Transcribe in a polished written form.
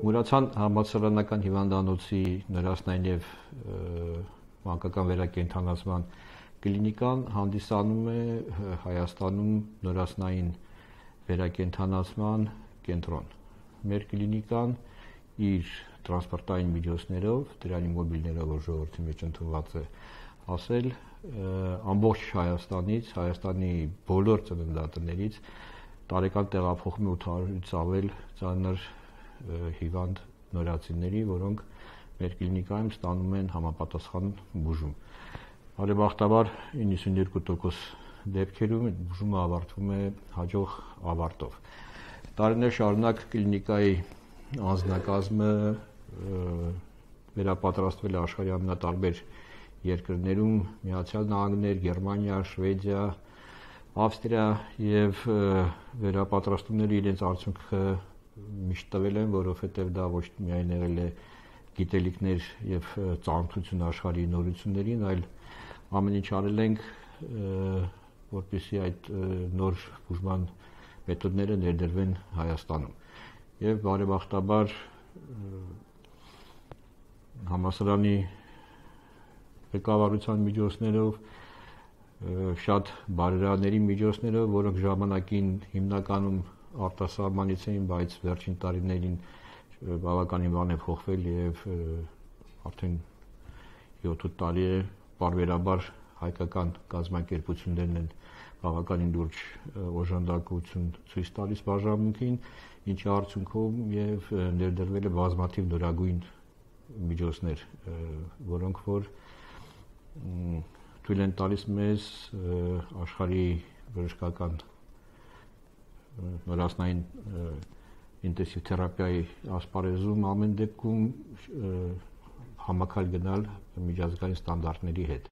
Մուրացան համալսարանական հիվանդանոցի նորաստային և մանկական վերակենդանացման կլինիկան հանդիսանում է Հայաստանում նորաստային վերակենդանացման կենտրոն։ Մեր կլինիկան իր տրանսպորտային միջոցներով, դրանի մոբիլներով, որ ժողովրդի մեջ ընդունված է ասել, ամբողջ Հայաստանից, Հայաստանի բոլոր ծննդատներից տարեկան տեղափոխում է 800-ից ավել ծանր հիվանդ նորածինների, որոնք մեր կլինիկայում ստանում են համապատասխան բուժում։ Բարեբախտաբար 92% դեպքերում բուժումը ավարտվում է հաջող ավարտով։ Տարիներ շարունակ կլինիկայի անձնակազմը վերապատրաստվել է աշխարհի ամենատարբեր երկրներում՝ Միացյալ Նահանգներ, Գերմանիա, Շվեդիա, Ավստրիա, եւ վերապատրաստումները իրենց արդյունքը միշտ տվել են, որովհետև դա ոչ միայն եղել է գիտելիքներ եւ ծանոթություն աշխարհի նորություններին, այլ ամեն ինչ արել ենք, որպեսզի այդ նոր բուժման մեթոդները ներդրվեն Հայաստանում։ Եվ բարեբախտաբար համալսարանի ղեկավարության միջոցներով, շատ բարերարների միջոցներով, որոնք ժամանակին հիմնականում արտասահմանից էին, բայց վերջին տարիներին բավականին բան է փոխվել եւ արդեն 7-8 տարի է պարբերաբար հայկական կազմակերպություններն են բավականին լուրջ օժանդակություն ցույց տալիս բաժանմունքին, ինչի արդյունքում եւ ներդրվել է բազմաթիվ նորագույն միջոցներ, որոնք որ թույլ են տալիս մեզ աշխարհի բժշկական նորաստային ինտենսիվ թերապիայի ասպարեզում ամեն դեպքում համակալ գնալ միջազգային ստանդարտների հետ։